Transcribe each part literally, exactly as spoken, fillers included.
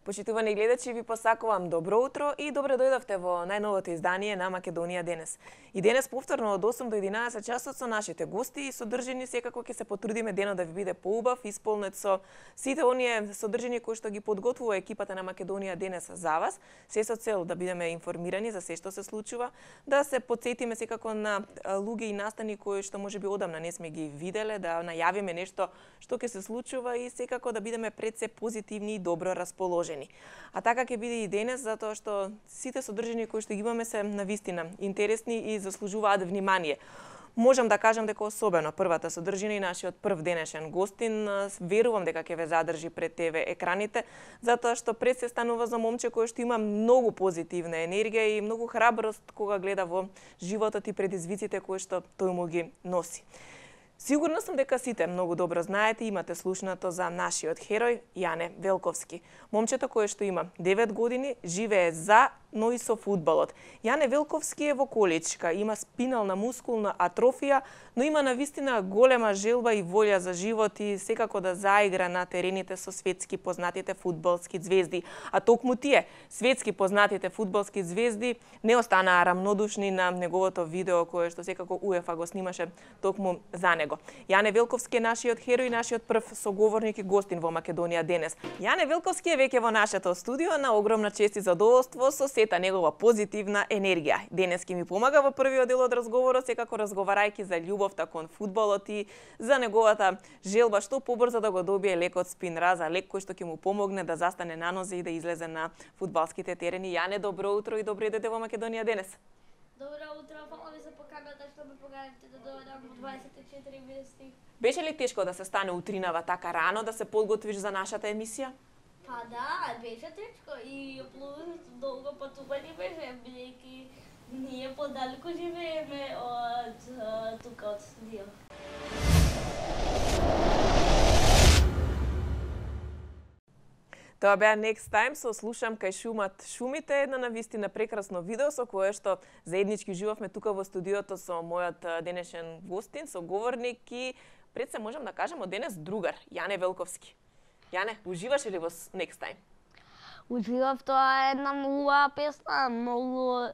Почитувани гледачи, ви посакувам добро утро и добре дојдовте во најновото издание на Македонија денес. И денес повторно од осум до единаесет часот со нашите гости и содржини секако ќе се потрудиме денот да ви биде поубав, исполнет со сите оние содржини кои што ги подготвува екипата на Македонија денес за вас, се со цел да бидеме информирани за се што се случува, да се потсетиме секако на луѓе и настани кои што можеби одамна не сме ги виделе, да најавиме нешто што ќе се случува и секако да бидеме пред се позитивни и добро расположени. А така ќе биде и денес, затоа што сите содржини кои што ги имаме се навистина интересни и заслужуваат внимание. Можам да кажам дека особено првата содржина и нашиот прв денешен гостин, верувам дека ќе ве задржи пред ТВ екраните, затоа што пред се станува за момче кој што има многу позитивна енергија и многу храброст кога гледа во животот и предизвиците кои што тој му ги носи. Сигурна сум дека сите многу добро знаете и имате слушнато за нашиот херој Јане Велковски. Момчето кое што има девет години, живее за, но и со фудбалот. Јане Велковски е во количка, има спинална мускулна атрофија, но има навистина голема желба и волја за живот и секако да заигра на терените со светски познатите фудбалски звезди. А токму тие, светски познатите фудбалски звезди, не останаа рамнодушни на неговото видео кое што секако УЕФА го снимаше токму за него. Јане Велковски е нашиот херој, нашиот прв соговорник и гостин во Македонија денес. Јане Велковски е веќе во нашето студио на огромна чест и задоволство со сета негова позитивна енергија. Денес ќе ми помага во првиот дел од разговорот, секако разговарајќи за љубовта кон фудбалот и за неговата желба што побрзо да го добие лекот спин-раз, лек кој што ќе му помогне да застане на нозе и да излезе на фудбалските терени. Јане, добро утро и добре дојдете во Македонија денес. Добро утро, фала ви за поканата што ме поканивте да дојдам во дваесет и четири вести. Беше ли тешко да се стане утринава така рано, да се подготвиш за нашата емисија? Па да, беше тешко и плюс долго патување беше, бидејќи ние подалеку живееме од тука од студио. Тоа беа Next Time со Слушам кај шумат шумите, една навистина прекрасно видео со кое што заеднички уживавме тука во студиото со мојот денешен гостин, соговорник и пред се можам да кажам од денес другар, Јане Велковски. Јане, уживаше ли во Next Time? Уживав, тоа е една многу убава песна, многу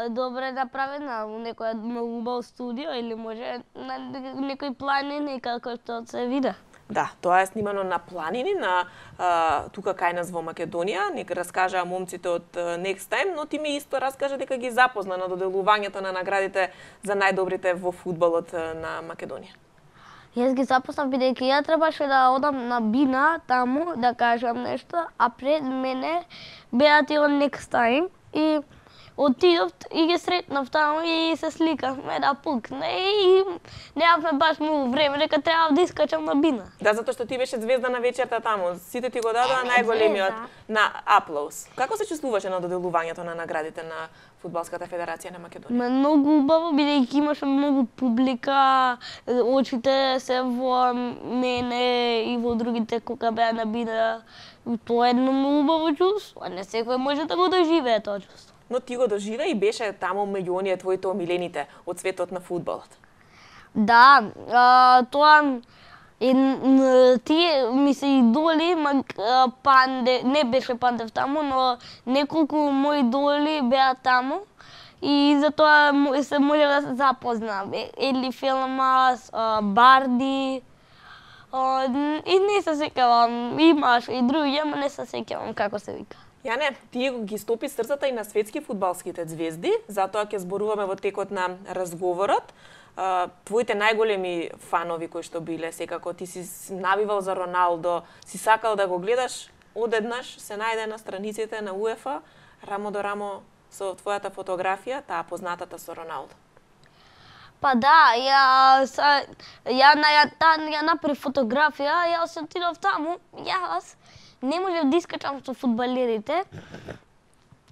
добре направена во некој многу убаво студио или може на некој планини како што се виде. Да, тоа е снимано на планини, на а, тука кај нас во Македонија. Нека раскажа момците од Next Time, но ти ми исто раскажа дека ги запозна на доделувањето на наградите за најдобрите во фудбалот на Македонија. Јас ги запознав бидејќи ја требаше да одам на Бина таму да кажам нешто, а пред мене беа тие од Next Time и отидов и ги сретнав таму и се сликавме да пукне и немавме баш многу време, дека треба да искачам на Бина. Да, затоа што ти беше звезда на вечерта таму. Сите ти го дадоа најголемиот на аплауз. Како се чувствуваше на доделувањето на наградите на Фудбалската федерација на Македонија? Многу убаво, бидејќи имаше многу публика, очите се во мене и во другите кога беа на Бина. Тоа е едно многу убаво чувство, не секој може да го доживее тоа чувство. Но ти го доживеа и беше таму меѓу оние твоите омилените од светот на фудбалот. Да, а, тоа и тие ми се идоли, Панде, не беше Пандев таму, но неколку мои идоли беа таму и затоа се може да се запознам. Или Филмас, Барди, и не се сеќавам, имаш и други, ама не се сеќавам како се вика. Јане, ти ги стопи срцата и на светски фудбалските звезди, затоа ќе зборуваме во текот на разговорот. Твоите најголеми фанови кои што биле, секако ти си навивал за Роналдо, си сакал да го гледаш, одеднаш се најде на страниците на УЕФА, рамо до рамо со твојата фотографија, таа познатата со Роналдо. Па да, ја са, ја на ја, ја направи фотографија, јас отидов таму, јас не можев да искачам со фудбалерите,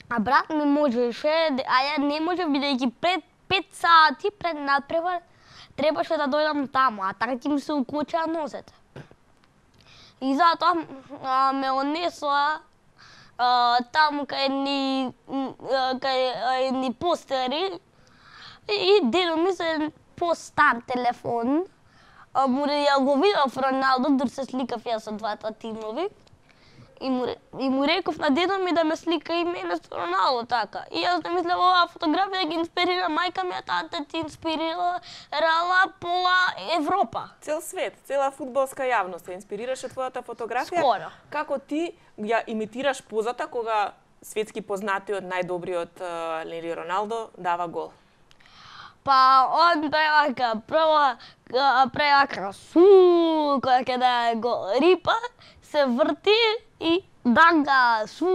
а брат ми можеше, а ја не можев бидејќи пред пет сати пред надпревар требаше да дојдам таму, а така ќе ми се укочеа нозете. И затоа а, ме онесоа таму кај ни кај ни постери и дедо ми се по-стар телефон. Му ја го видов Роналдо, дур се сликав ја со двата тимови. И му, и му реков на дедо ми да ме слика и мене со Роналдо така. И јас да мислам оваа фотографија ги инспирира мајка ми, а тата ти инспирира рала пола Европа. Цел свет, цела фудбалска јавност се инспирираше твојата фотографија. Скоро. Како ти ја имитираш позата кога светски познатиот најдобриот Лели Роналдо дава гол? Па он превака, прво превака су, кога ќе да гол рипа, се врти и данга су.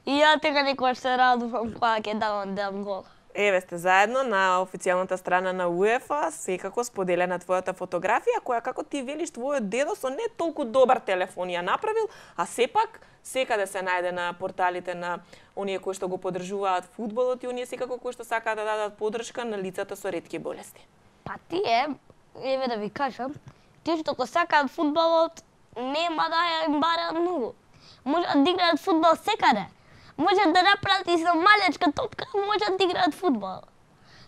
И ја така некојаш се радувам кога ќе давам дам гол. Еве сте заедно на официјалната страна на УЕФА, секако споделена твојата фотографија, која како ти велиш твојот дедо со не толку добар телефон ја направил, а сепак секаде се најде на порталите на оние кои што го поддржуваат фудбалот и оние секако кои што сакаат да дадат поддршка на лицата со ретки болести. Па тие, еве да ви кажам, тие што го сакаат фудбалот, нема да ја им бараат многу. Можат да играат фудбал секаде. Можат да направат и со малечка топка, можат да играат фудбал.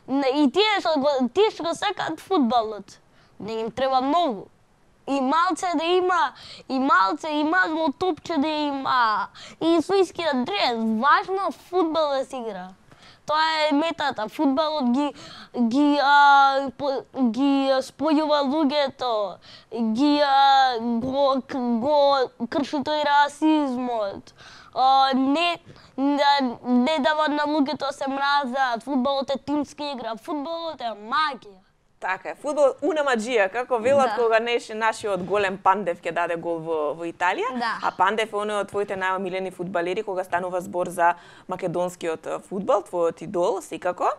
И тие што го, тие што го сакаат фудбалот, не им треба многу. И малце да има, и малце, и мало топче да има, и суискиот дрес. Важно фудбал да се игра. Тоа е метата. Фудбалот ги ги а, по, ги спојува луѓето, ги а, го, го крши тој расизмот. А, не, не, не дава на луѓето се мразат. Фудбалот е тимска игра, фудбалот е магија. Така е, фудбал уна маџија, како велат Да. кога неше нашиот голем Пандев ќе даде гол во, во Италија, Да. а Пандев е оној од твоите најомилени фудбалери кога станува збор за македонскиот фудбал, твојот идол, секако.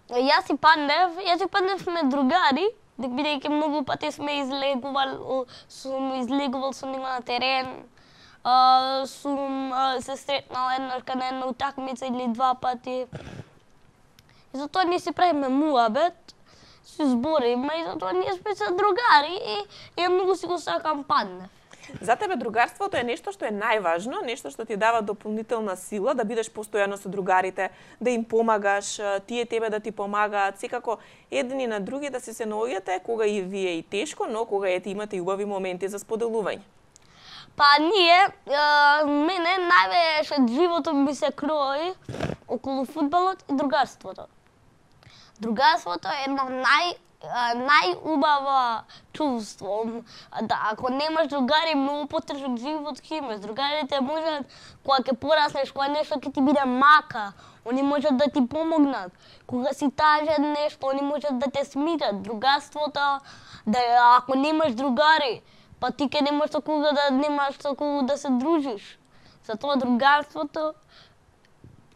Јас и Пандев, јас и Пандев сме другари, бидејќи многу пати сме излегувал, сум излегувал со него на терен, а, сум а, се сретнал еднаш на една утакмица или два пати. И затоа ние си правиме муабет, си збориме и затоа ние сме се другари и, и ја многу си го сакам Пандев. За тебе другарството е нешто што е најважно, нешто што ти дава дополнителна сила да бидеш постојано со другарите, да им помагаш, тие тебе да ти помагаат, секако едни на други да се се наоѓате кога и вие и тешко, но кога ете имате и убави моменти за споделување. Па ние, е, мене највеќе животот ми се крои околу фудбалот и другарството. Другарството е едно нај најубава чувство. Да, ако немаш другари, многу потежок живот ќе имаш. Другарите можат, кога ќе пораснеш, кога нешто ќе ти биде мака, они можат да ти помогнат. Кога си тажен нешто, они можат да те смират. Другарството, да, ако немаш другари, па ти ќе немаш со кого да немаш со кого да се дружиш. Затоа другарството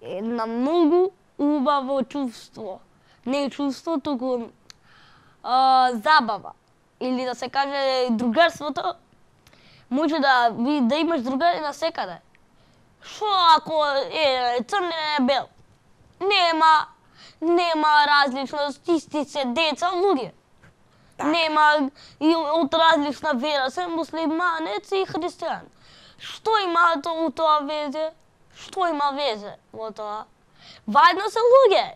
е на многу убаво чувство. Не е чувство, туку а, забава. Или да се каже другарството, може да, да имаш другари на секаде. Шо ако е црн е бел? Нема, нема различност, исти се деца, луѓе. Так. Нема и од различна вера, се муслиманец и христијан. Што има тоа, тоа везе? Што има везе во тоа? Важно се луѓе.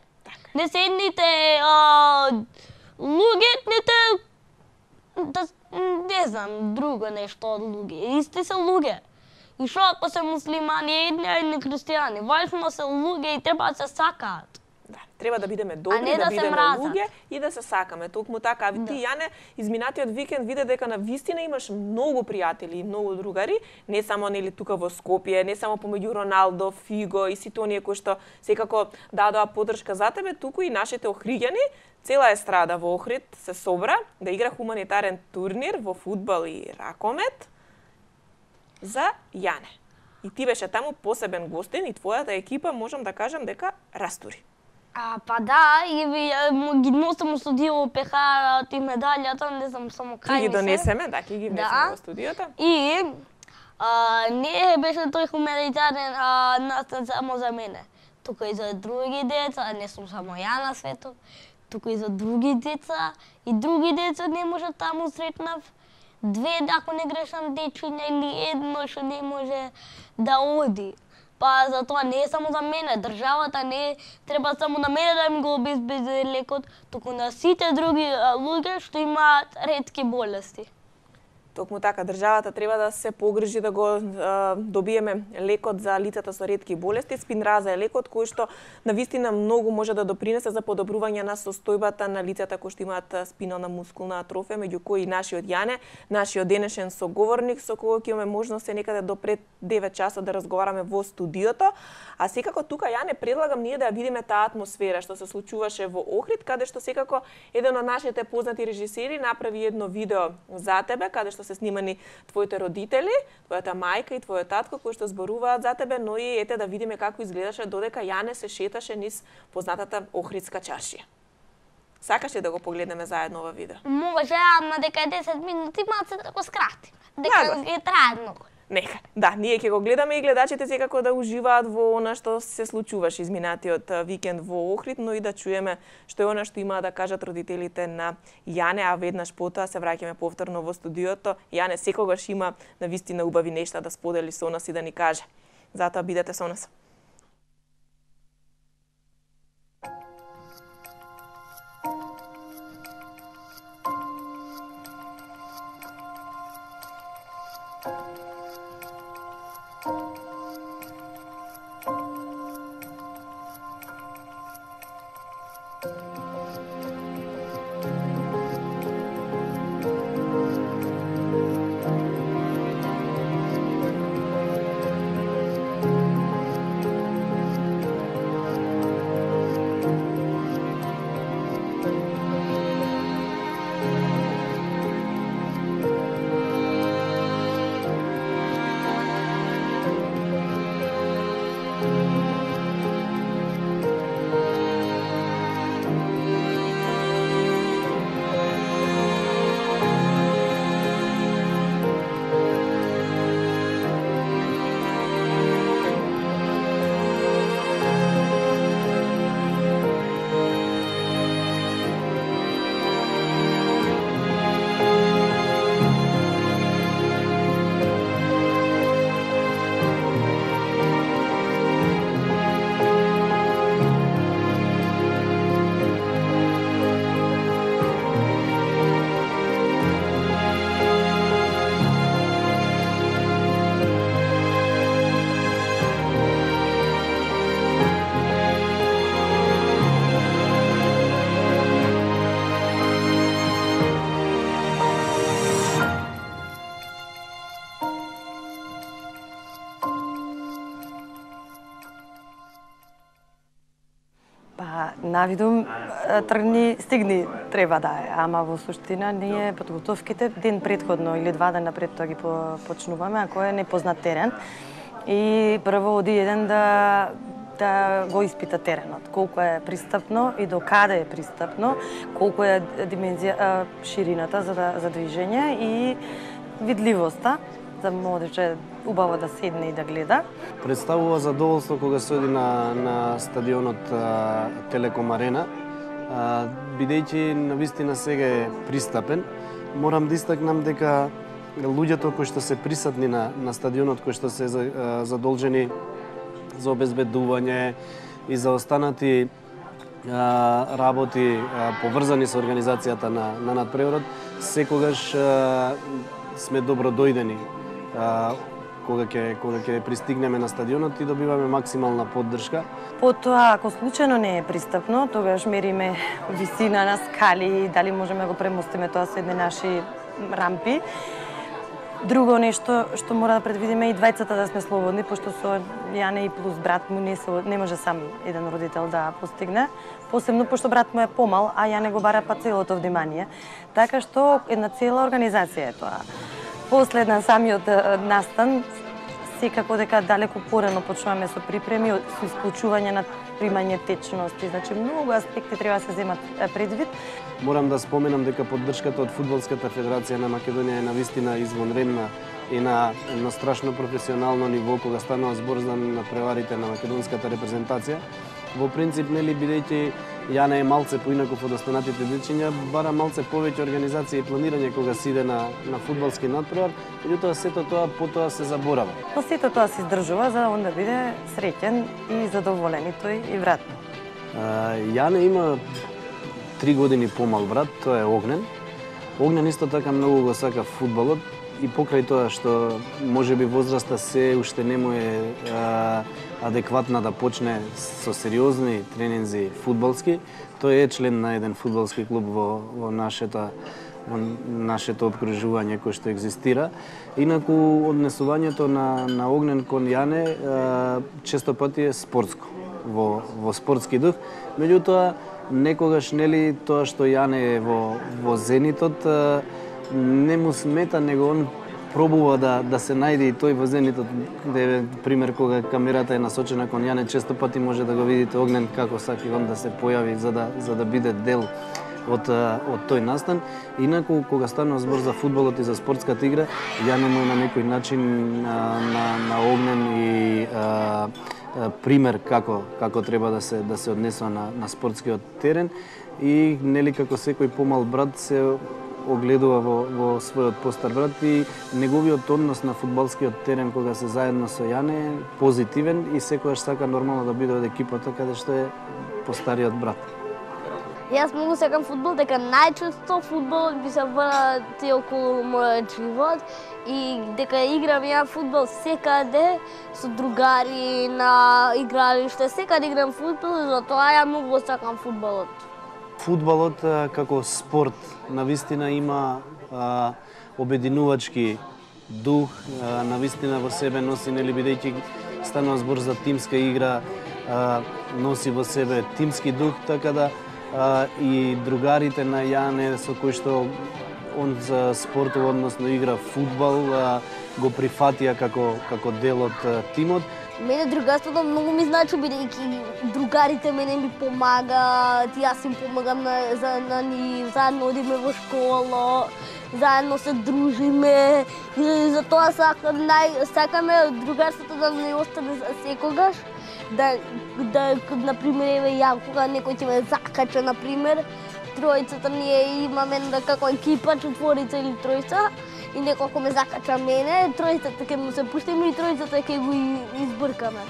Не се едните а, луѓе, ните, да, не знам, друго нешто од луѓе. Исти се луѓе. И шо ако се муслимани, едни, едни христијани. Важно се луѓе и треба да се сакаат. Да, треба да бидеме добри, не да, да се бидеме мразат. луѓе и да се сакаме. Токму така, а ти, Да. Јане, изминатиот викенд виде дека на вистина имаш многу пријатели и многу другари, не само нели тука во Скопје, не само помеѓу Роналдо, Фиго и сите оние кои што секако дадоа поддршка за тебе, туку и нашите охриѓани, цела естрада во Охрид се собра да игра хуманитарен турнир во фудбал и ракомет за Јане. И ти беше таму посебен гостин и твојата екипа, можам да кажам дека растури. А, па да, и ви, му ги носам со дио пехарот и медалјата, не знам само Ќе кај ги ми се. донесеме, да, ќе ги внесеме Да. во студиото. И а, не беше тој хуманитарен а, настан само за мене. Тука и за други деца, не сум само ја на светот, тука и за други деца, и други деца не може таму сретнав. Две, ако не грешам, дечиња или едно што не може да оди. Па затоа не е само за мене, државата не треба само на мене да ми го обезбеди лекот, туку на сите други а, луѓе што имаат ретки болести. Токму така, државата треба да се погрижи да го а, добиеме лекот за лицата со ретки болести. Спинраза е лекот кој што навистина многу може да допринесе за подобрување на состојбата на лицата кои што имаат спинална мускулна атрофија, меѓу кои нашиот Јане, нашиот денешен соговорник со кој ќе имаме можност се некаде до пред девет часот да разговараме во студиото. А секако тука, Јане, предлагам ние да ја видиме таа атмосфера што се случуваше во Охрид, каде што секако еден од нашите познати режисери направи едно видео за тебе, каде што се снимани твоите родители, твојата мајка и твојот татко кои што зборуваат за тебе, но и ете да видиме како изгледаше додека Јане се шеташе низ познатата Охридска чаршија. Сакаш ли да го погледнеме заедно ова видео? Може, ама дека е десет минути, малце да го скратиме. Дека ги трае многу. Нека. Да, ние ќе го гледаме и гледачите секако да уживаат во она што се случуваше изминатиот викенд во Охрид, но и да чуеме што е она што имаа да кажат родителите на Јане, а веднаш потоа се враќаме повторно во студиото. Јане секогаш има навистина убави нешта да сподели со нас и да ни каже. Затоа бидете со нас. Навидум тргни, стигни треба да е, ама во суштина ние подготовките ден предходно или два дена пред тоа ги почнуваме, ако е непознат терен. И прво оди еден да да го испита теренот, колку е пристапно и до каде е пристапно, колку е димензија ширината за да, за движење и видливоста, за можеше убаво да седне и да гледа. Представува задоволство кога се оди на, на стадионот а, Телеком Арена, а, бидејќи навистина сега е пристапен. Морам да истакнам дека луѓето кои што се присатни на, на стадионот, кои што се а, задолжени за обезбедување и за останати а, работи а, поврзани со организацијата на, на надпреварот, секогаш а, сме добродојдени а, кога ќе кога ќе пристигнеме на стадионот и добиваме максимална поддршка. Потоа, ако случајно не е пристапно, тогаш мериме висина на скали, дали можеме го премостиме тоа со едни наши рампи. Друго нешто што мора да предвидиме и двајцата да сме слободни, пошто со Јане и плюс брат му не, со, не може сам еден родител да постигне. Посебно пошто брат му е помал, а Јане го бара па целото внимание. Така што една цела организација е тоа. После на самиот настан, секако дека далеку порано почнуваме со припреми, со исклучување на примање течности. Значи, многу аспекти треба да се земат предвид. Морам да споменам дека поддршката од Фудбалската федерација на Македонија е навистина извонредна и на едно страшно професионално ниво кога станува збор за надпреварите на македонската репрезентација. Во принцип, нели, бидејќи Јане е малце поинаков од останатите дечиња, бара малце повеќе организација и планирање кога се иде на, на фудбалски надпревар, меѓутоа сето тоа потоа се заборава. Но сето тоа се издржува за да он да биде среќен и задоволен и тој и вратно. Јане има три години помал брат, тоа е Огнен. Огнен исто така многу го сака фудбалот. и покрај тоа што можеби возраста се уште не му е а, адекватна да почне со сериозни тренинзи фудбалски, тој е член на еден фудбалски клуб во, во нашето во нашето обкружување кој што екзистира. Инаку однесувањето на на Огнен кон Јане а, често пати е спортско, во во спортски дух. Меѓутоа некогаш нели тоа што Јане е во во зенитот а, не му смета, него он пробува да да се најде и тој во зенитот, де пример кога камерата е насочена кон Јане, често пати може да го видите Огнен како сака он да се појави за да за да биде дел од од тој настан. Инаку кога станува збор за фудбалот и за спортската игра, Јане му на некој начин а, на на Огнен и а, а, пример како како треба да се да се однесува на на спортскиот терен и нели како секој помал брат се огледува во, во својот постар брат и неговиот однос на фудбалскиот терен кога се заедно со Јане е позитивен и секогаш сака нормално да биде од екипата каде што е постариот брат. Јас многу сакам фудбал, дека најчесто фудбалот би се врати околу мојот живот и дека играм ја фудбал секаде со другари на игралиште, секаде играм фудбал и затоа ја многу сакам фудбалот. Фудбалот како спорт навистина има а, обединувачки дух, а, навистина во себе носи, нели бидејќи станува збор за тимска игра, а, носи во себе тимски дух, така да а, и другарите на Јане со кои што он за спортов, односно игра фудбал, а, го прифатија како како дел од тимот. Мене другарството многу ми значи, бидејќи другарите мене ми помагаат, јас им помагам на, за, на ни, заедно одиме во школа, заедно се дружиме и затоа сакам, нај, сакаме другарството да не остане за секогаш, да, да, например, еве ја, кога некој ќе ме закача, например, тројцата ние имаме да како екипа, четворица или тројца, и некој ме закача мене, тројцата ќе му се пуштиме и тројцата ќе го избркаме.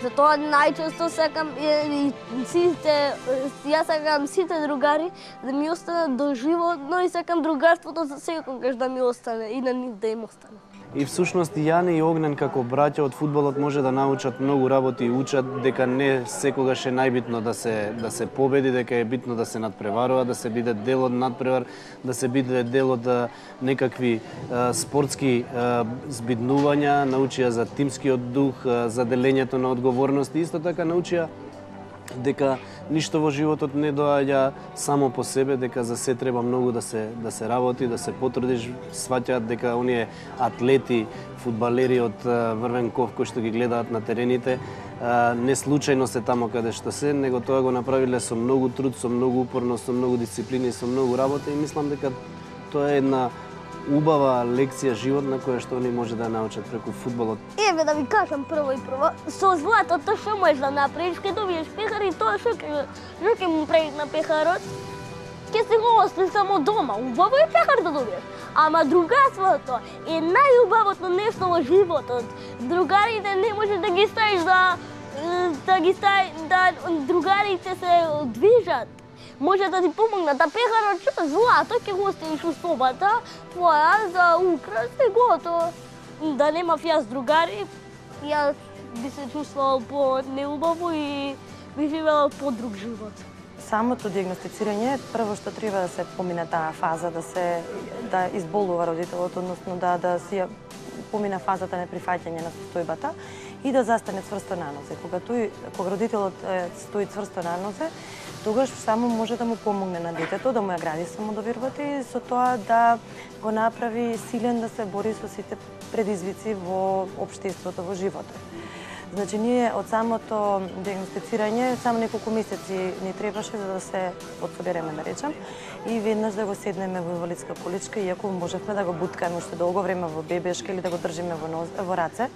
Затоа најчесто сакам и сите, јас сакам сите другари да ми останат до животно и сакам другарството за секогаш да ми остане и на нив да им остане. И всушност Јане и Огнен како браќа од фудбалот може да научат многу работи и учат дека не секогаш е најбитно да се да се победи, дека е битно да се надпреварува, да се биде дел од надпревар, да се биде дел од некакви а, спортски а, збиднувања, научија за тимскиот дух, а, за делењето на одговорности, исто така научија дека ништо во животот не доаѓа само по себе, дека за се треба многу да се да се работи, да се потрудиш, сваќаат дека оние атлети, фудбалери од Врвенков кои што ги гледаат на терените, не случајно се тамо каде што се, него тоа го направиле со многу труд, со многу упорно, со многу дисциплина и со многу работа и мислам дека тоа е една убава лекција животна која што они може да научат преку фудбалот. Еве да ви кажам прво и прво, со златото што можеш да направиш, ќе добиеш пехар и тоа што ќе што ќе му правиш на пехарот, ќе се го остави само дома. Убаво е пехар да добиеш. Ама другарството е најубавото нешто во животот. Другарите не може да ги ставиш да да ги ставиш да другарите се движат. Може да ти помогнат, а пехарот што злато ќе го оставиш у собата твоја за украс и готово. Да немав јас другари, јас би се чувствувал по-неубаво и би живеел по-друг живот. Самото диагностицирање, прво што треба да се помине таа фаза, да се да изболува родителот, односно да да си помина фазата на прифаќање на состојбата и да застане цврсто на нозе. Кога тој кога родителот стои цврсто на нозе, тогаш само може да му помогне на детето, да му ја гради самодовербата и со тоа да го направи силен да се бори со сите предизвици во општеството, во животот. Значи, ние од самото диагностицирање, само неколку месеци ни требаше за да се подсобереме, да речам, и веднаш да го седнеме во инвалидска количка, иако можевме да го буткаме уште долго време во бебешка или да го држиме во, ноз, во раце,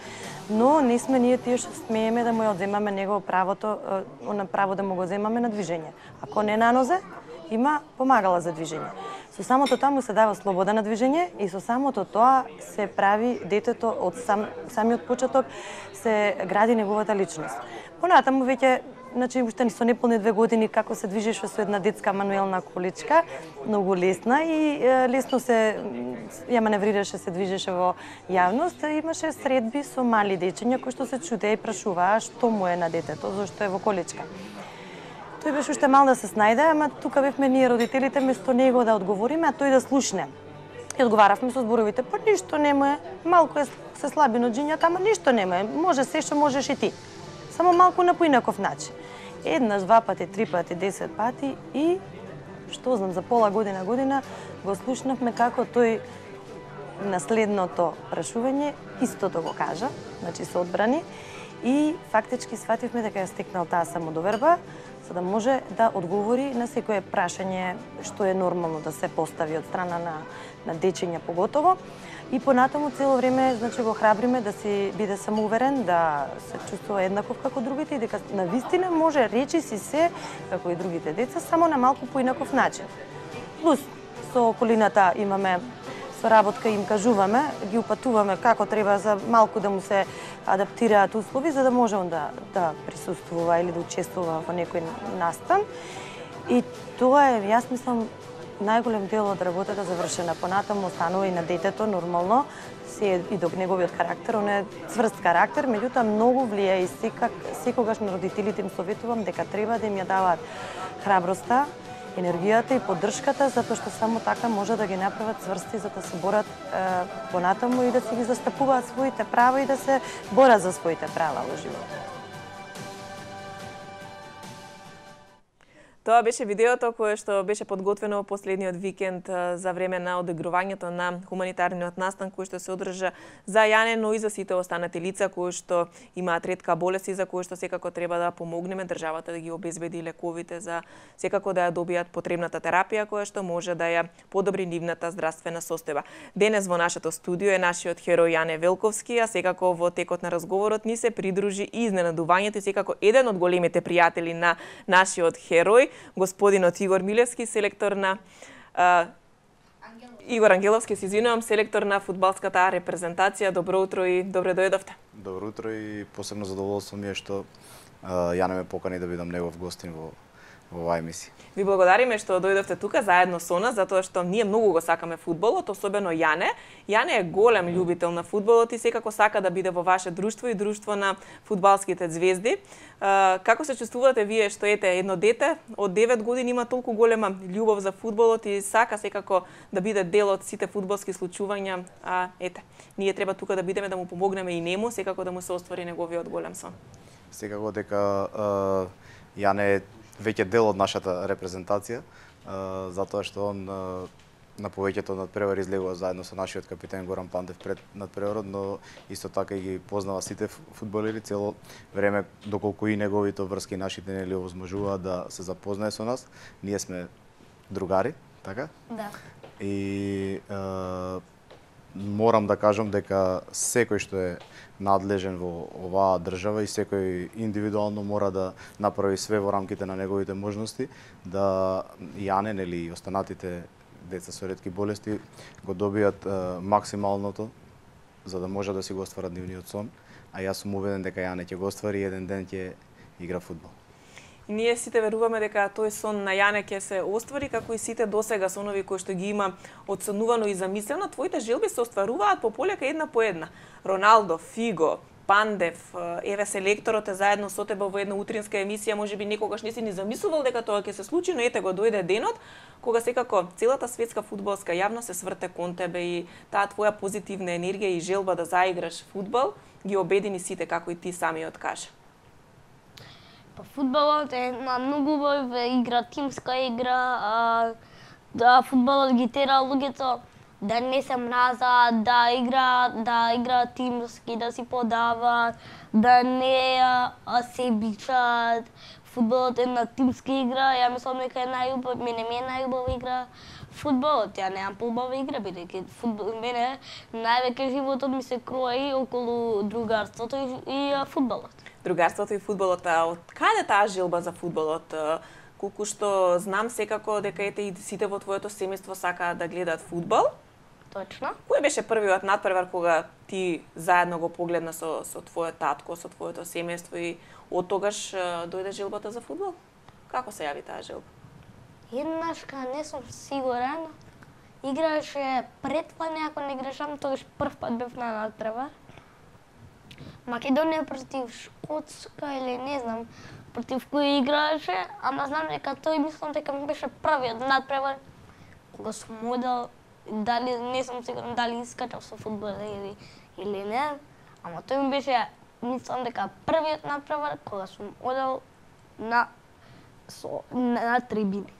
но не сме ние тие што смееме да му ја одземаме него правото, на право да му го земаме на движење. Ако не на нозе, има помагала за движење. Со самото тоа му се дава слобода на движење и со самото тоа се прави детето од сам, самиот почеток се гради неговата личност. Понатаму веќе значи уште со неполни две години како се движеше со една детска мануелна количка, многу лесна и е, лесно се ја маневрираше, се движеше во јавност, имаше средби со мали дечиња кои што се чудеа и прашуваа што му е на детето, зашто е во количка. Тој беше уште мал да се снајде, ама тука бевме ние родителите место него да одговориме, а тој да слушне. И одговаравме со зборовите, па ништо нема е, малку е се слаби ноџињата, ама ништо нема е, може се што можеш и ти. Само малку на поинаков начин. Еднаш, два пати, три пати, десет пати и, што знам, за пола година, година го слушнавме како тој на следното прашување истото го кажа, значи се одбрани, и фактички свативме дека ја стекнал таа самодоверба, за да може да одговори на секое прашање што е нормално да се постави од страна на, на дечиња поготово. И понатаму цело време, значи, го храбриме да си биде самоуверен, да се чувствува еднаков како другите и дека навистина може речи си се како и другите деца, само на малку поинаков начин. Плюс со околината имаме соработка, им кажуваме, ги упатуваме како треба за малку да му се адаптираат услови за да може он да да присуствува или да учествува во некој настан. И тоа е, јас мислам, најголем дел од работата завршена. Понатаму останува и на детето нормално, се и до неговиот карактер, он е цврст карактер, меѓутоа многу влија и секак, секогаш на родителите им советувам дека треба да им ја даваат храброста, енергијата и поддршката, затоа што само така може да ги направат цврсти за да се борат е, понатаму и да се ги застапуваат своите права и да се борат за своите права во животот. Тоа беше видеото кое што беше подготвено последниот викенд за време на одигрувањето на хуманитарниот настан кој што се одржа за Јане, но и за сите останати лица кои што имаат ретка болест и за кои што секако треба да помогнеме државата да ги обезбеди лековите за секако да ја добијат потребната терапија која што може да ја подобри нивната здравствена состојба. Денес во нашето студио е нашиот херој Јане Велковски, а секако во текот на разговорот ни се придружи и изненадувањето и секако еден од големите пријатели на нашиот херој, господинот Игор Милевски, селектор на а, Игор Ангеловски, се извинувам, селектор на фудбалската репрезентација. Добро утро и добре дојдовте. Добро утро и посебно задоволство ми е што а, Јане ме покани да бидам негов гостин во во оваа емисија. Ви благодариме што дојдовте тука заедно со нас, затоа што ние многу го сакаме фудбалот, особено Јане. Јане е голем љубител на фудбалот и секако сака да биде во ваше друштво и друштво на фудбалските звезди. Како се чувствувате вие што ете едно дете од девет години има толку голема љубов за фудбалот и сака секако да биде дел од сите фудбалски случувања, а ете, ние треба тука да бидеме да му помогнеме и нему, секако да му се оствари неговиот голем сон. Секако дека Јане е веќе дел од нашата репрезентација, затоа што он на повеќето надпревари излегува заедно со нашиот капитен Горан Пантев пред надпреварот, но исто така и ги познава сите фудбалери цело време, доколку и неговите врски нашите нели овозможуваат да се запознае со нас. Ние сме другари, така? Да. И е, морам да кажам дека секој што е надлежен во оваа држава и секој индивидуално мора да направи све во рамките на неговите можности да Јане нели и останатите деца со ретки болести го добијат е, максималното за да може да си го остварат нивниот сон, а јас сум убеден дека Јане ќе го оствари и еден ден ќе игра фудбал. И ние сите веруваме дека тој сон на Јане ќе се оствари, како и сите досега сонови кои што ги има одсонувано и замислено. Твоите желби се остваруваат по полека една по една. Роналдо, Фиго, Пандев, еве селекторот е заедно со тебе во една утринска емисија, можеби некогаш не си ни замислувал дека тоа ќе се случи, но ете го дојде денот кога секако целата светска фудбалска јавност се сврте кон тебе и таа твоја позитивна енергија и желба да заиграш фудбал ги обедини сите, како и ти самиот кажа. Па фудбалот е една многу убава игра, тимска игра, а, да фудбалот ги тера луѓето да не се мразат, да игра, да игра тимски, да си подават, да не а, се бичат. Фудбалот е една тимска игра, ја мислам дека е најубава, мене ми е најубава игра фудбалот, ја немам поубава игра, бидејќи фудбал мене највеќе животот ми се крои околу другарството и, и а, фудбалот. Другарството и фудбалот, а од каде таа желба за фудбалот? Колку што знам секако дека ете и сите во твоето семејство сакаат да гледаат фудбал. Точно. Кој беше првиот надпревар кога ти заедно го погледна со со твојот татко, со твоето семејство и од тогаш дојде желбата за фудбал? Како се јави таа желба? Еднаш, кога не сум сигурен, играше пред тоа, ако не грешам, тогаш прв пат бев на надпревар. Македонија против Шкотска или не знам против кој играше, ама знам дека тој мислам дека ми беше првиот надпревар кога сум одел, дали не сум сигурен дали искачав со фудбал или или не, ама тој ми беше мислам дека првиот надпревар кога сум одел на со на, на трибините.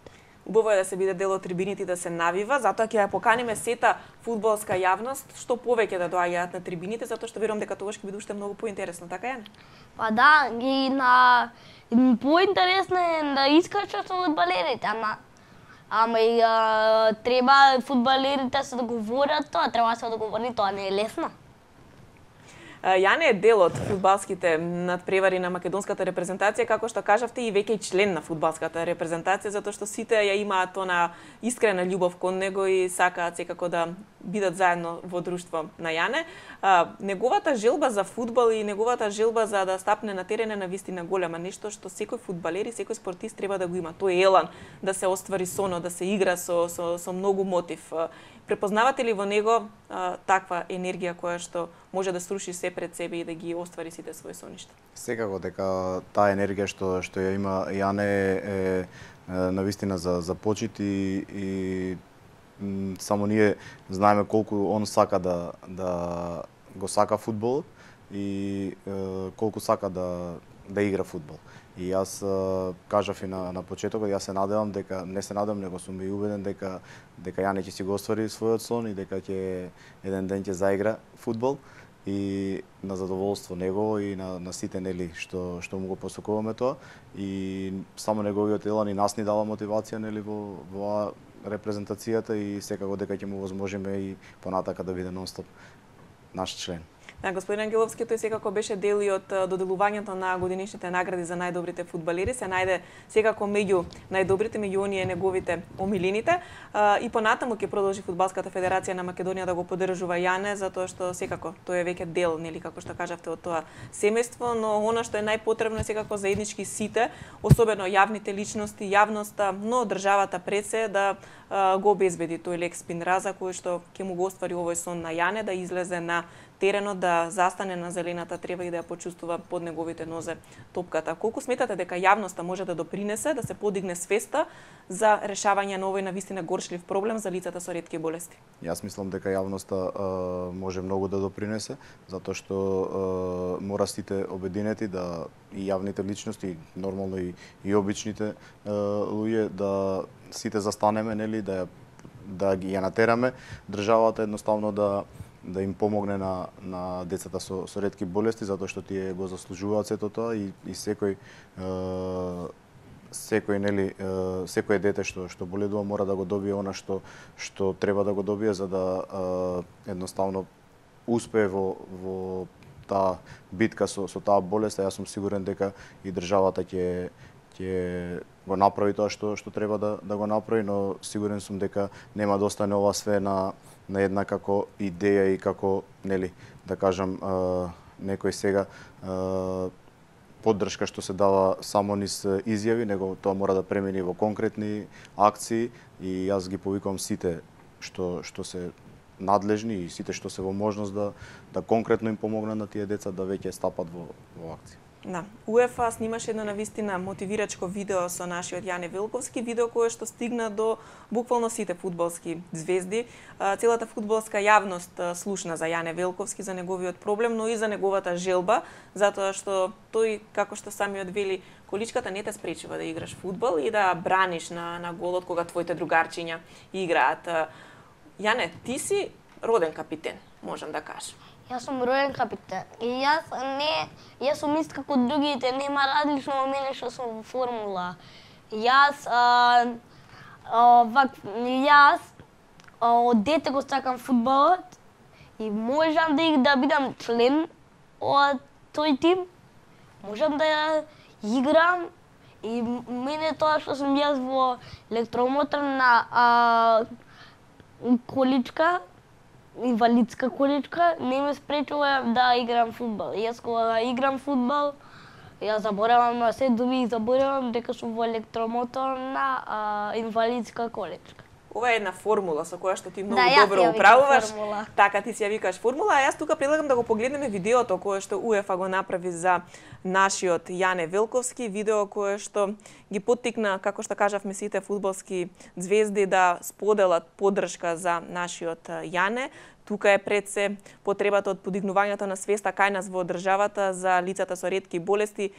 Убаво е да се биде дел од трибините и да се навива, затоа ќе ја поканиме сета фудбалска јавност што повеќе да доаѓаат на трибините, затоа што верувам дека тогаш ќе биде уште многу поинтересно, така е? Па да, ги на поинтересно е да искачат со фудбалерите, ама ама и а, треба фудбалерите се договорат тоа, треба да се договори, тоа не е лесно. Јане е дел од фудбалските надпревари на македонската репрезентација, како што кажавте и веќе и член на фудбалската репрезентација, затоа што сите ја имаат она искрена љубов кон него и сакаат секако да бидат заедно во друштво на Јане. А, неговата желба за фудбал и неговата желба за да стапне на терен е навистина голема, нешто што секој фудбалер и секој спортист треба да го има. Тој елан да се оствари соно, да се игра со со со многу мотив. Препознавате ли во него а, таква енергија која што може да сруши се пред себе и да ги оствари сите своји соништа? Секако дека таа енергија што што ја има Јане е, е, е навистина за за почит и, и м, само ние знаеме колку он сака да да го сака фудбал и е, колку сака да да игра фудбал. И јас е, кажав и на на почетокот, јас се надевам дека не се надевам, него сум и убеден дека дека Јане ќе си го оствари својот сон и дека ќе еден ден ќе заигра фудбал и на задоволство негово и на на сите нели што што му го посакуваме тоа и само неговиот елан и нас ни дава мотивација нели во во репрезентацијата и секако дека ќе му возможиме и понатака да биде нонстоп наш член. Да, господин Ангеловски, тој секако беше дел и од доделувањето на годинишните награди за најдобрите фудбалери, се најде секако меѓу најдобрите, меѓу оние неговите омилените. И понатаму ќе продолжи Фудбалската федерација на Македонија да го поддржува Јане, затоа што секако тој е веќе дел, нели како што кажавте, од тоа семејство, но она што е најпотребно е секако заеднички сите, особено јавните личности, јавноста, но државата пред се да го обезбеди тој лек Спинраза кој што ќе му го оствари овој сон на Јане, да излезе на теренот, да застане на зелената трева и да ја почувствува под неговите нозе топката. Колку сметате дека јавноста може да допринесе да се подигне свеста за решавање на овој навистина горчлив проблем за лицата со ретки болести? Јас мислам дека јавноста а, може многу да допринесе, затоа што а, мора сите обединети да и јавните личности, нормално и, и обичните а, луѓе да сите застанеме, нели, да да ги ја натераме државата едноставно да да им помогне на на децата со со ретки болести, затоа што тие го заслужуваат сето тоа и и секој е, секој нели е, секое дете што што боледува мора да го добие она што што треба да го добие за да е, едноставно успее во во таа битка со со таа болест. Јас сум сигурен дека и државата ќе ќе го направи тоа што што треба да да го направи, но сигурен сум дека нема да остане ова све на на една како идеја и како нели да кажам е, некој сега е, поддршка што се дава само низ изјави, него тоа мора да премини во конкретни акции и јас ги повикувам сите што што се надлежни и сите што се во можност да да конкретно им помогнат на тие деца да веќе стапат во во акција. Да. УЕФА снимаше едно навистина мотивирачко видео со нашиот Јане Велковски, видео кое што стигна до буквално сите фудбалски звезди. Целата фудбалска јавност слушна за Јане Велковски, за неговиот проблем, но и за неговата желба, затоа што тој, како што самиот вели, количката не те спречува да играш фудбал и да браниш на на голот кога твоите другарчиња играат. Јане, ти си роден капитен, можам да кажам. Јас сум роден капитен. И јас не, јас сум ист како другите, нема различно во мене што сум во формула. Јас а, а, вак, јас а, од дете го сакам фудбалот и можам да да бидам член од тој тим. Можам да играм и мене тоа што сум јас во електромоторна а, количка инвалидска количка не ме спречува да играм фудбал. Јас кога играм фудбал, ја заборавам на се думи и заборавам дека сум во електромоторна а, инвалидска количка. Ова е една формула со која што ти многу Да, јас добро ја викам управуваш. формула. Така, ти си ја викаш формула, а јас тука предлагам да го погледнеме видеото кое што УЕФА го направи за нашиот Јане Велковски, видео кое што ги поттикна, како што кажавме, сите фудбалски звезди да споделат поддршка за нашиот Јане. Тука е пред се потребата од подигнувањето на свеста кај нас во државата за лицата со ретки болести,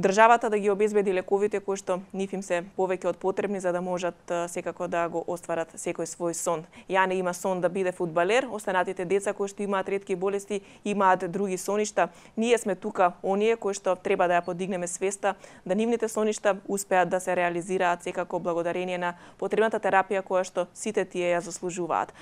државата да ги обезбеди лековите кои што нив им се повеќе од потребни за да можат секако да го остварат секој свој сон. Јане има сон да биде фудбалер, останатите деца кои што имаат ретки болести имаат други соништа. Ние сме тука оние кои што треба да ја подигнеме свеста, да нивните соништа успеат да се реализираат секако благодарение на потребната терапија која што сите тие ја заслужуваат.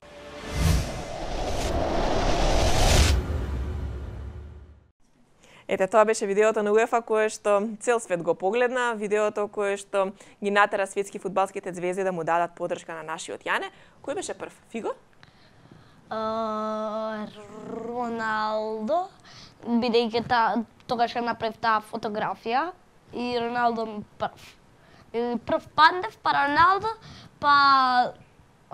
Ете, тоа беше видеото на УЕФА кое што цел свет го погледна, видеото кое што ги натера светски фудбалските звезди да му дадат поддршка на нашиот Јане. Кој беше прв? Фиго? Uh, Роналдо, бидејќи та, тогаш ја направив таа фотографија и Роналдо ми прв. И прв Пандев, па Роналдо, па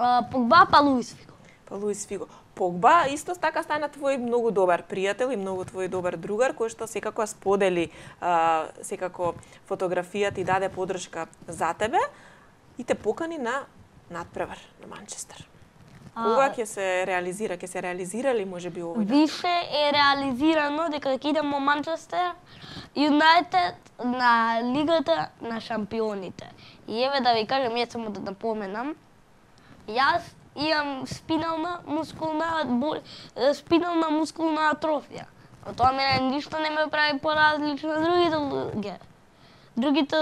uh, Погба, па Луис Фиго. Па Луис Фиго. Погба исто така стана твој многу добар пријател и многу твој добар другар, кој што секако сподели а, секако фотографијата и даде поддршка за тебе и те покани на надпревар на Манчестер. Кога ќе се реализира? Ќе се реализира ли можеби овој? Више е реализирано дека ќе идем во Манчестер Юнайтед на Лигата на шампионите. И еве да ви кажам, јас само да напоменам, јас имам спинална мускулна бол... спинална мускулна атрофија. А тоа мене ништо не ме прави поразлично од другите луѓе. Другите,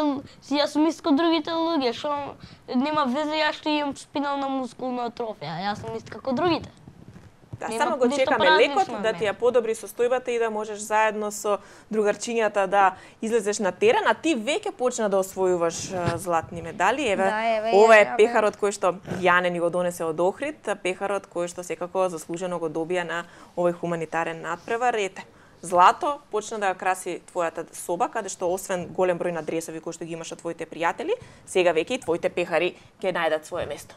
јас сум исто како другите луѓе, што нема везе јас што имам спинална мускулна атрофија. Јас сум исто како другите. Да, Нема само го ништо чекаме поразлично лекот од да мене. ти ја подобри состојбата и да можеш заедно со другарчињата да излезеш на терен, а ти веќе почна да освојуваш а, златни медали. Еве, Да, еве, ова е еве. пехарот кој што Јане ни го донесе од Охрид, пехарот кој што секако заслужено го добија на овој хуманитарен надпревар. Ете, злато почна да ја краси твојата соба, каде што освен голем број на дресови кои што ги имаш од твоите пријатели, сега веќе и твоите пехари ќе најдат свое место.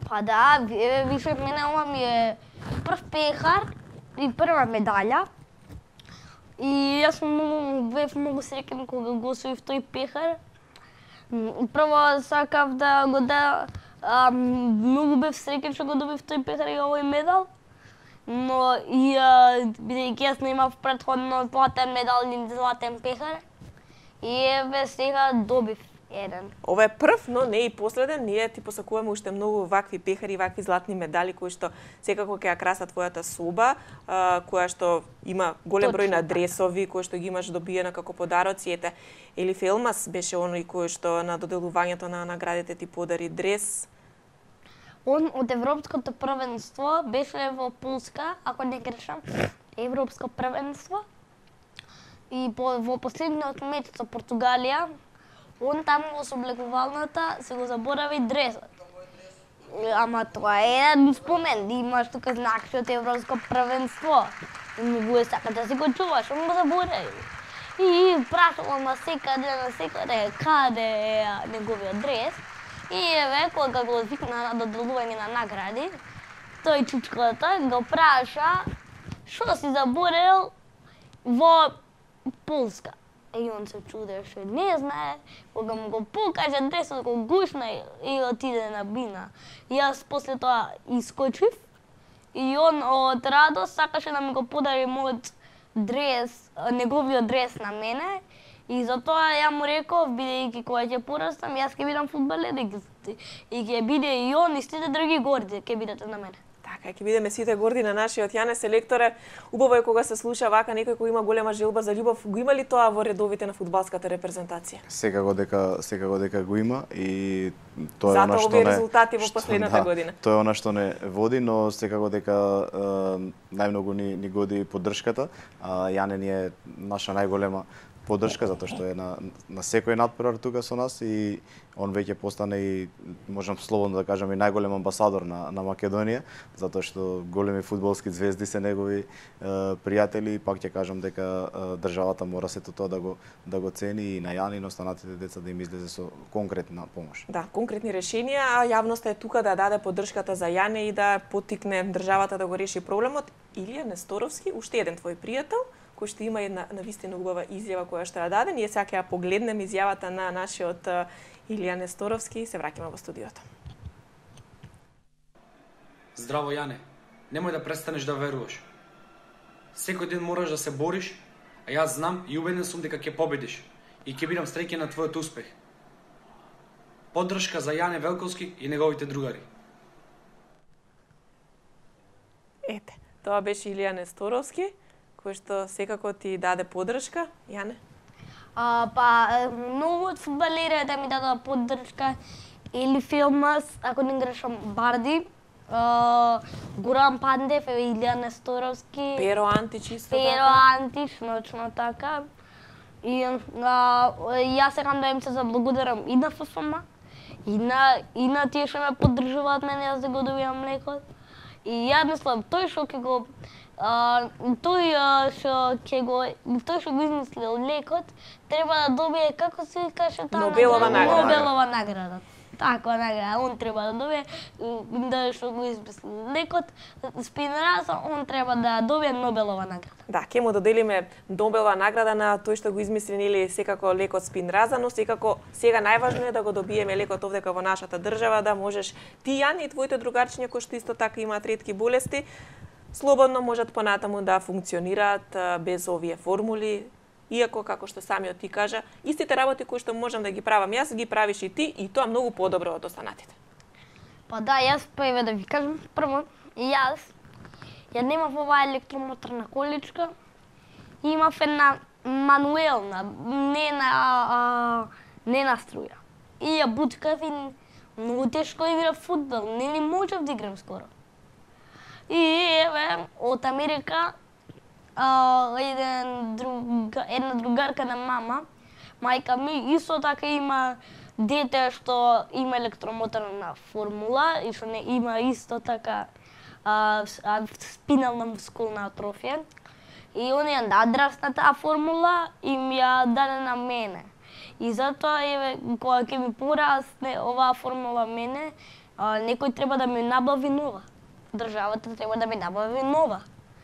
Па да, еве више мене ова ми е прв пехар и прва медаља. И јас сум многу, бев многу среќен кога го освоив тој пехар. М, Прво сакав да го да а, многу бев среќен што го добив тој пехар и овој медал. Но и а, бидејќи јас немав претходно златен медал или златен пехар, и еве сега добив еден. Ова е прв, но не и последен. Ние ти посакуваме уште многу вакви пехари, вакви златни медали кои што секако ќе ја красат твојата соба, а, која што има голем број Точно на така. дресови кои што ги имаш добиена како подароци. Ете, Елиф Елмас беше оној кој што на доделувањето на наградите ти подари дрес. Он од Европското првенство беше во Полска, ако не грешам, Европско првенство. И по, во последниот меч со Португалија, он таму во соблегувалната се го заборави дресот. Ама тоа е еден спомен, да имаш тука знак од Европско првенство. И многу е сака да си го чуваш, он го заборави. И прашувам на секаде, на секаде, каде е неговиот дрес. И еве, кога го викна на доделување на награди, тој чучката го праша што си заборел во Полска. И он се чудеше, не знае, кога му го покаже дресот, го гушна и, и отиде на бина. И јас после тоа искочив и он од радост сакаше да ми го подари мојот дрес, неговиот дрес на мене. И затоа ја му реков, бидејќи кога ќе порастам, јас ќе бидам фудбалер и ќе- и ќе биде и он и сите други горди ќе бидете на мене. Така, ќе бидеме сите горди на нашиот Јане селекторе. Убаво е кога се слуша вака некој кој има голема желба за љубов. Го има ли тоа во редовите на фудбалската репрезентација? Секако дека секако дека го има и тоа е Затоа она што овие не резултати во што- последната да, година. Тоа е она што не води, но секако дека е, најмногу ни ни годи поддршката. А, Јане ни е наша најголема поддршка затоа што е на на секој натпревар тука со нас и он веќе постане и можам слободно да кажам и најголем амбасадор на на Македонија, затоа што големи фудбалски звезди се негови е, пријатели и пак ќе кажам дека е, државата мора сето тоа да го да го цени и на Јани и на останатите деца да им излезе со конкретна помош. Да, конкретни решенија, а јавноста е тука да даде поддршката за Јане и да поттикне државата да го реши проблемот. Илија Несторовски, уште еден твој пријател, кој што има една навистина убава изјава која што ја даде. Ние сега ќе ја погледнеме изјавата на нашиот Илија Несторовски и се враќаме во студиото. Здраво, Јане. Немој да престанеш да веруваш. Секој ден мораш да се бориш, а јас знам и убеден сум дека ќе победиш и ќе бидам среќен на твојот успех. Поддршка за Јане Велковски и неговите другари. Ете, тоа беше Илија Несторовски, кој што секако ти даде поддршка. Јане? А, па, многу од фудбалери да ми дадат поддршка или филмас, ако не грешам, Барди, а, Гурам Пандев, Илија Несторовски, Перо Антич исто Перо така. Антич, точно така. И а, јас сакам да им се заблагодарам и на Ф Ф М, и на, и на тие што ме поддржуваат мене јас да го добијам лекот. И ја мислам, тој што ќе го а, тој а, што ќе го тој што го измислил лекот треба да добие, како се каже таа Нобелова награда. Нобелова награда. Таква награда, он треба да добие, да што го измислил лекот, Спинраза, он треба да добие Нобелова награда. Да, ќе му доделиме Нобелова награда на тој што го измисли нели секако лекот Спинраза, но секако сега најважно е да го добиеме лекот овдека во нашата држава, да можеш ти, Јани, и твоите другарчиња кои што исто така имаат ретки болести, слободно можат понатаму да функционираат а, без овие формули. Иако, како што самиот ти кажа, истите работи кои што можам да ги правам јас, ги правиш и ти, и тоа многу подобро од останатите. Па да, јас прве да ви кажам, прво, јас ја немав оваа електромоторна количка, имав една мануелна, не на, а, не на струја. И ја буткав и многу тешко играв фудбал, не ни можев да играм скоро. И еве, од Америка, а, еден друга, една другарка на мама, мајка ми, исто така има дете што има електромоторна формула и што не има исто така а, спинална мускулна атрофија. И они ја надрасна таа формула и ми ја даде на мене. И затоа еве кога ќе ми порасне оваа формула мене, а, некој треба да ми набави нова. Државата треба да ми набави нова.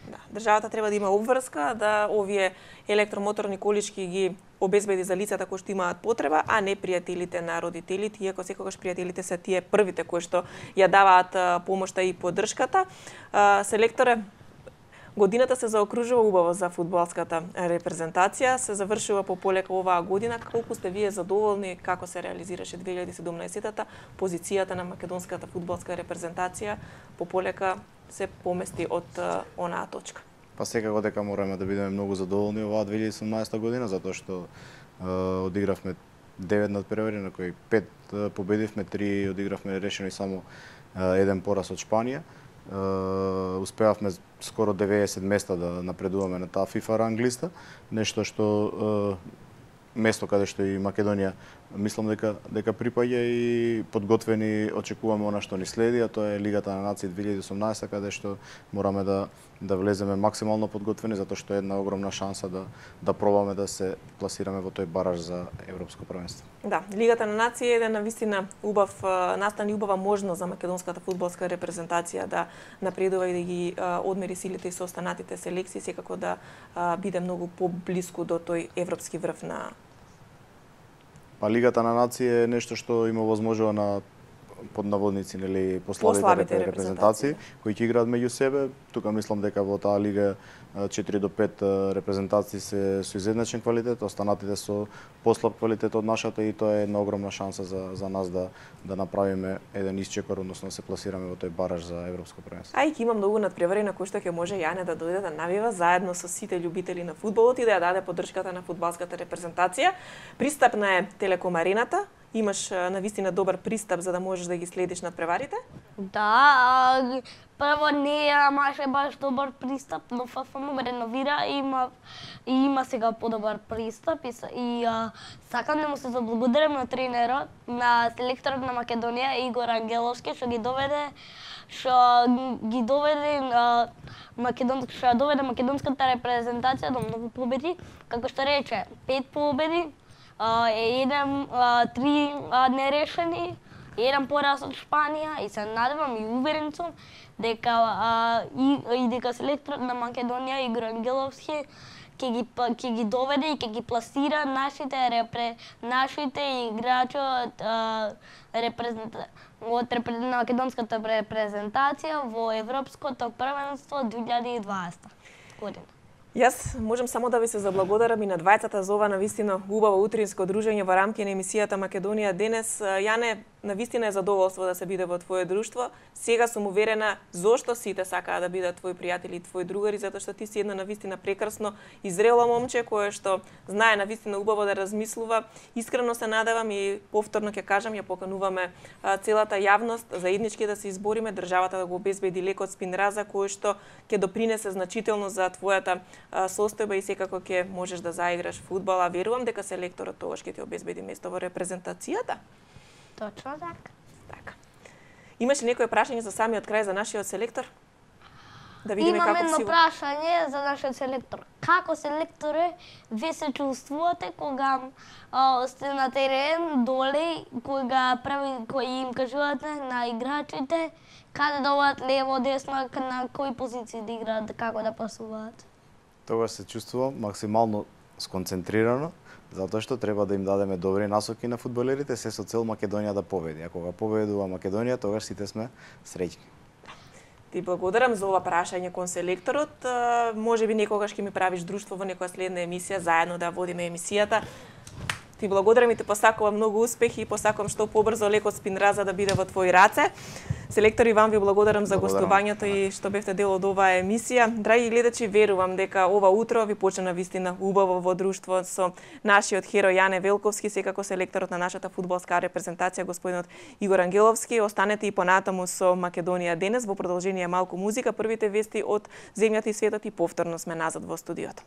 Да, државата треба да има обврска да овие електромоторни колички ги обезбеди за лицата кои што имаат потреба, а не пријателите на родителите, иако секогаш пријателите се тие првите кои што ја даваат помошта и поддршката. Селекторе, годината се заокружува убаво за фудбалската репрезентација, се завршува пополека оваа година. Колку сте вие задоволни како се реализираше две илјади и седумнаесетта позицијата на македонската фудбалска репрезентација пополека се помести од uh, онаа точка? Па секако дека мораме да бидеме многу задоволни оваа две илјади и седумнаесетта година, затоа што е, одигравме девет надпревари, на кои пет е, победивме, три одигравме решено и само е, еден пораз од Шпанија. Uh, успеавме скоро деветдесет места да напредуваме на таа FIFA ранг листа, нешто што uh, место каде што и Македонија мислам дека дека припаѓа и подготвени очекуваме она што ни следи, а тоа е Лигата на нации две илјади и осумнаесетта, каде што мораме да да влеземе максимално подготвени, затоа што е една огромна шанса да да пробаме да се пласираме во тој бараж за европско првенство. Да, Лигата на нации е еден навистина убав настан и убава можност за македонската фудбалска репрезентација да напредува и да ги а, одмери силите и со останатите селекции, секако да а, биде многу поблиску до тој европски врв на. Па Лигата на нации е нешто што има возможува на под наводници, нели, послабите, послабите репрезентации, кои ќе играат меѓу себе. Тука мислам дека во таа лига четири до пет репрезентации се со изедначен квалитет, останатите со послаб квалитет од нашата, и тоа е една огромна шанса за за нас да да направиме еден исчекор, односно да се пласираме во тој бараж за европско првенство. А и има многу надпревари на кои што ќе може Јане да дојде да навива заедно со сите љубители на фудбалот и да ја даде поддршката на фудбалската репрезентација. Пристапна е Телеком Арената. Имаш навистина добар пристап за да можеш да ги следиш надпреварите? Да, прво не имаше баш добар пристап, но ФФМ реновира и има и има сега подобар пристап и, и а, сакам да му се заблагодарам на тренерот, на селекторот на Македонија Игор Ангеловски што ги доведе што ги доведе а, македонска што доведе македонската репрезентација до многу победи, како што рече, пет победи, а, еден а, три а, нерешени, еден пораз од Шпанија и се надевам и уверен сум дека а, и, и дека селекторот на Македонија Игор Ангеловски ќе ги ќе ги доведе и ќе ги пласира нашите репре нашите играчи од репрезента од репре, македонската репрезентација во европското првенство две илјади и дваесета година. Јас можам само да ви се заблагодарам и на двајцата за ова навистина убаво утринско дружење во рамки на емисијата Македонија денес. Јане, навистина е задоволство да се биде во твое друштво. Сега сум уверена зошто сите сакаат да бидат твои пријатели и твои другари, затоа што ти си една навистина прекрасно и зрело момче кое што знае навистина убаво да размислува. Искрено се надевам и повторно ќе кажам, ја покануваме целата јавност заеднички да се избориме државата да го обезбеди лекот спинраза кој што ќе допринесе значително за твојата состојба и секако ќе можеш да заиграш фудбал, а верувам дека селекторот тогаш ќе ти обезбеди место во репрезентацијата. Точно така. Така. Имаш ли некој прашање за самиот крај за нашиот селектор? Да видиме Имам како едно си... прашање за нашиот селектор. Како селекторе вие се чувствувате кога а, сте на терен доле, кога прави кои им кажувате на играчите каде да одат лево, десно, на кои позиции да играат, како да пасуваат? Тогаш се чувствувам максимално сконцентрирано, затоа што треба да им дадеме добри насоки на фудбалерите, се со цел Македонија да победи. А кога победува Македонија, тогаш сите сме среќни. Ти благодарам за ова прашање кон селекторот. Може би некогаш ќе ми правиш друштво во некоја следна емисија, заедно да водиме емисијата. Ти благодарам и те посакувам многу успехи и посакувам што побрзо лекот спинраза да биде во твои раце. Селектор Иван, ви благодарам за гостувањето и што бевте дел од оваа емисија. Драги гледачи, верувам дека ова утро ви почна вистина убаво во друштво со нашиот херој Јане Велковски, секако селекторот на нашата фудбалска репрезентација господинот Игор Ангеловски. Останете и понатаму со Македонија денес во продолжение малку музика, првите вести од земјата и светот и повторно сме назад во студиото.